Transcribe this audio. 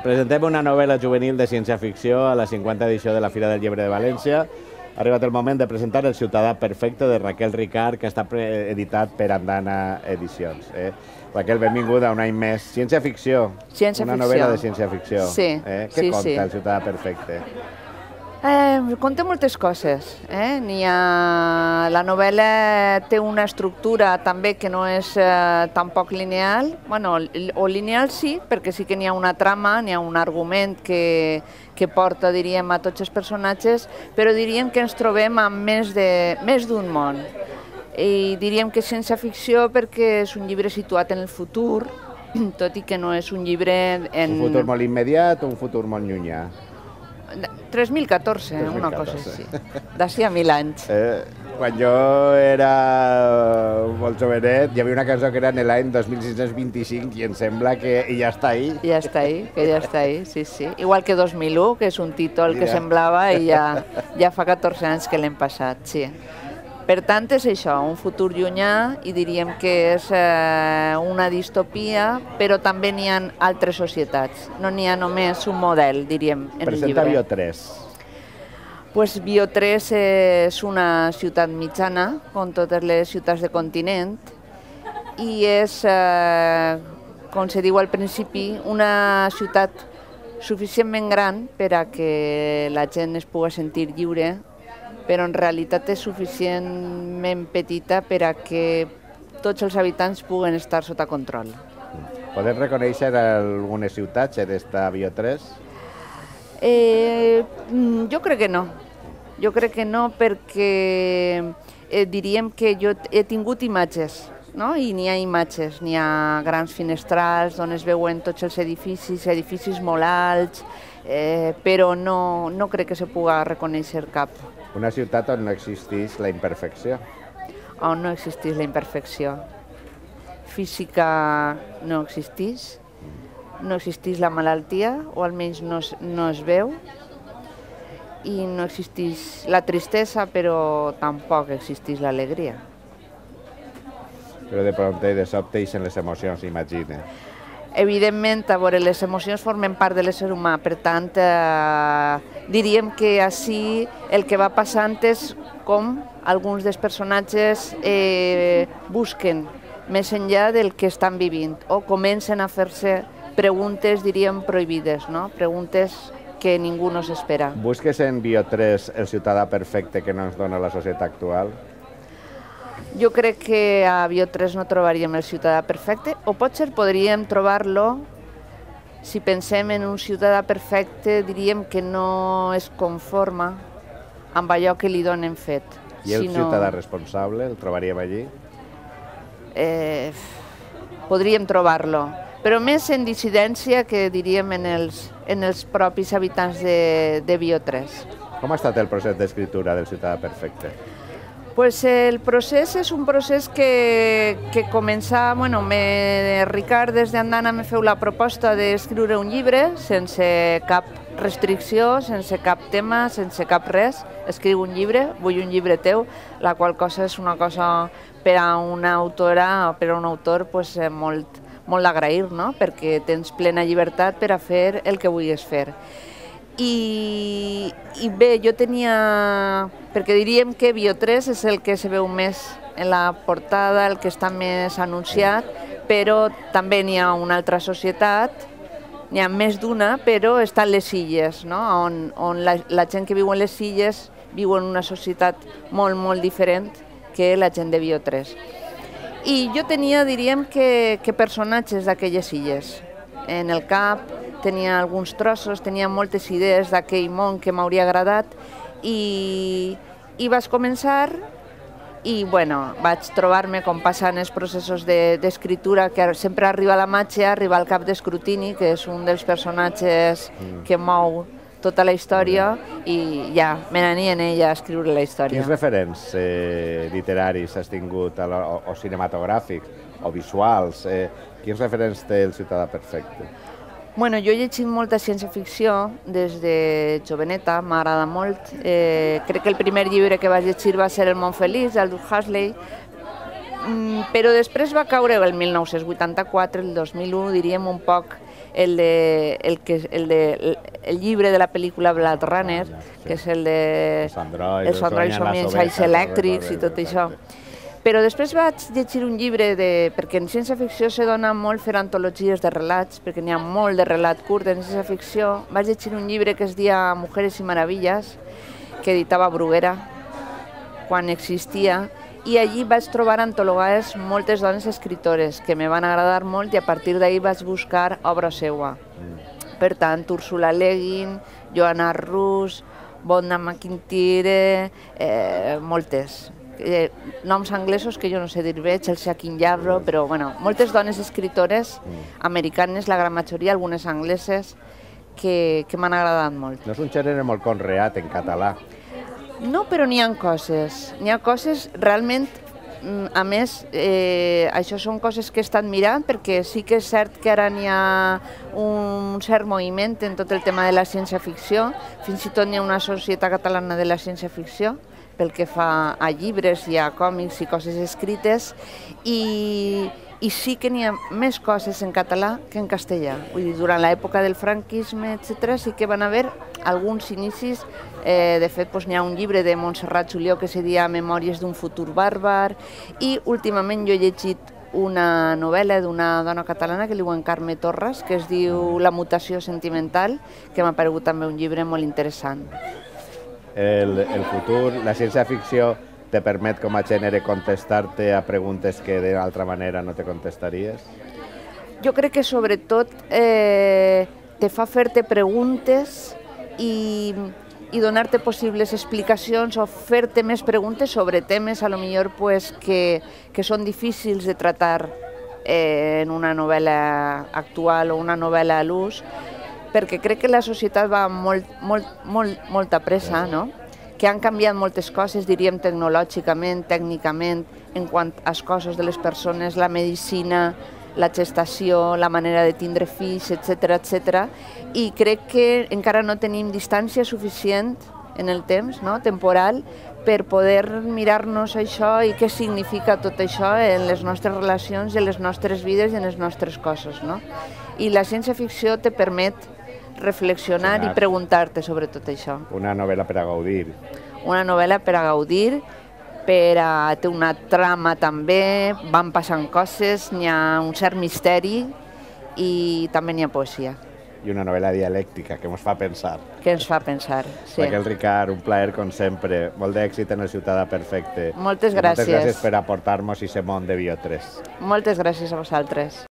Presentem una novel·la juvenil de ciència-ficció a la 50a edició de la Fira del Llibre de València. Ha arribat el moment de presentar El ciutadà perfecte de Raquel Ricart, que està editat per Andana Edicions. Raquel, benvinguda un any més. Ciència-ficció. Una novel·la de ciència-ficció. Sí. Què conta El ciutadà perfecte? Conta moltes coses. La novel·la té una estructura també que no és tampoc lineal. O lineal sí, perquè sí que n'hi ha una trama, n'hi ha un argument que porta, diríem, a tots els personatges, però diríem que ens trobem amb més d'un món. I diríem que és ciència-ficció perquè és un llibre situat en el futur, tot i que no és un llibre en... Un futur molt immediat o un futur molt llunyà? 3014, una cosa així, d'ací a 1000 anys. Quan jo era molt jovenet, hi havia una cançó que era en l'any 2625 i em sembla que ja està ahí. Ja està ahí, que ja està ahí, sí, sí. Igual que 2001, que és un títol que semblava i ja fa 14 anys que l'hem passat, sí. Per tant, és això, un futur llunyà, i diríem que és una distopia, però també n'hi ha altres societats. No n'hi ha només un model, diríem, en el llibre. Presenta Bio3. Doncs Bio3 és una ciutat mitjana, com totes les ciutats de continent, i és, com se diu al principi, una ciutat suficientment gran per a que la gent es pugui sentir lliure, però en realitat és suficientment petita per a que tots els habitants puguen estar sota control. Podem reconèixer algunes ciutats d'esta Bio3? Jo crec que no. Jo crec que no perquè diríem que jo he tingut imatges, i n'hi ha imatges, n'hi ha grans finestrals on es veuen tots els edificis molt alts, però no crec que se pugui reconèixer cap. Una ciutat on no existeix la imperfecció. On no existeix la imperfecció. Física no existeix, no existeix la malaltia, o almenys no es veu, i no existeix la tristesa, però tampoc existeix l'alegria. Però de prompte i de sobte ixen les emocions, imagina. Evidentment, a veure, les emocions formen part de l'ésser humà, per tant, diríem que així el que va passant és com alguns dels personatges busquen més enllà del que estan vivint o comencen a fer-se preguntes, diríem, prohibides, preguntes que ningú no s'espera. Busques en Bio3 el ciutadà perfecte que no ens dona la societat actual? Jo crec que a Bio3 no trobaríem el ciutadà perfecte, o potser podríem trobar-lo, si pensem en un ciutadà perfecte, diríem que no es conforma amb allò que li donen fet. I el ciutadà responsable, el trobaríem allí? Podríem trobar-lo, però més en dissidència que diríem en els propis habitants de Bio3. Com ha estat el procés d'escriptura del ciutadà perfecte? Pues el procés és un procés que comença, Ricard des d'Andana me feu la proposta d'escriure un llibre sense cap restricció, sense cap tema, sense cap res. Escriu un llibre, vull un llibre teu, la qual cosa és una cosa per a una autora o per a un autor molt d'agrair, perquè tens plena llibertat per a fer el que vulguis fer. I bé, jo tenia... perquè diríem que Bio3 és el que se veu més en la portada, el que està més anunciat, però també n'hi ha una altra societat, n'hi ha més d'una, però estan les illes, on la gent que viu en les illes viu en una societat molt, molt diferent que la gent de Bio3. I jo tenia, diríem, que personatges d'aquelles illes. En el cap tenia alguns trossos, tenia moltes idees d'aquell món que m'hauria agradat i vaig començar i vaig trobar-me, com passa en els processos d'escriptura, que sempre arriba la màgia, arriba al cap d'escrutini, que és un dels personatges que mou tota la història, i ja me n'anien ella a escriure la història. Quins referents literaris has tingut, o cinematogràfics, o visuals? Quins referents té el ciutadà perfecte? Jo he llegit molta ciència-ficció des de joveneta, m'agrada molt. Crec que el primer llibre que vaig llegir va ser El món feliç, d'Aldous Huxley, però després va caure el 1984, el 2001, diríem un poc el llibre de la pel·lícula Blade Runner, que és el de els androids són menys elèctrics i tot això. Però després vaig llegir un llibre, perquè en ciència-ficció se dona molt fer antologies de relats, perquè n'hi ha molt de relat curt en ciència-ficció. Vaig llegir un llibre que es deia Mujeres y Maravillas, que editava Bruguera, quan existia, i allí vaig trobar antologades moltes dones escritores que me van agradar molt i a partir d'ahir vaig buscar obra seua. Per tant, Ursula Le Guin, Joanna Rus, Vonda McIntyre, moltes. Noms anglesos que jo no sé dir bé, Chelsea King-Yarbrough, però bueno, moltes dones escritores americanes, la gran majoria, algunes angleses, que m'han agradat molt. No és un gènere molt conreat en català. No, però n'hi ha coses realment, a més, això són coses que he estat mirant, perquè sí que és cert que ara n'hi ha un cert moviment en tot el tema de la ciència-ficció, fins i tot n'hi ha una societat catalana de la ciència-ficció, pel que fa a llibres i a còmics i coses escrites, i sí que n'hi ha més coses en català que en castellà. Vull dir, durant l'època del franquisme, etc., sí que van haver alguns inicis. De fet, n'hi ha un llibre de Montserrat Julió que se deia Memòries d'un futur bàrbar, i últimament jo he llegit una novel·la d'una dona catalana que li diuen Carme Torres, que es diu La mutació sentimental, que m'ha paregut també un llibre molt interessant. El futur, la ciència-ficció te permet com a gènere contestar-te a preguntes que d'altra manera no te contestaries? Jo crec que sobretot te fa fer-te preguntes i donar-te possibles explicacions o fer-te més preguntes sobre temes a lo millor que són difícils de tractar en una novel·la actual o una novel·la a l'ús, perquè crec que la societat va molt a pressa, no? Que han canviat moltes coses, diríem tecnològicament, tècnicament, en quant als cossos de les persones, la medicina, la gestació, la manera de tindre fills, etc. I crec que encara no tenim distància suficient en el temps, temporal, per poder mirar-nos això i què significa tot això en les nostres relacions, en les nostres vides i en els nostres cossos. I la ciència-ficció te permet reflexionar i preguntar-te sobre tot això. Una novel·la per a gaudir. Una novel·la per a gaudir, té una trama també, van passant coses, n'hi ha un cert misteri i també n'hi ha poesia. I una novel·la dialèctica que ens fa pensar. Que ens fa pensar, sí. Raquel Ricart, un plaer com sempre. Molt d'èxit en el Ciutadà Perfecte. Moltes gràcies. Moltes gràcies per aportar-nos aquest món de Bio3. Moltes gràcies a vosaltres.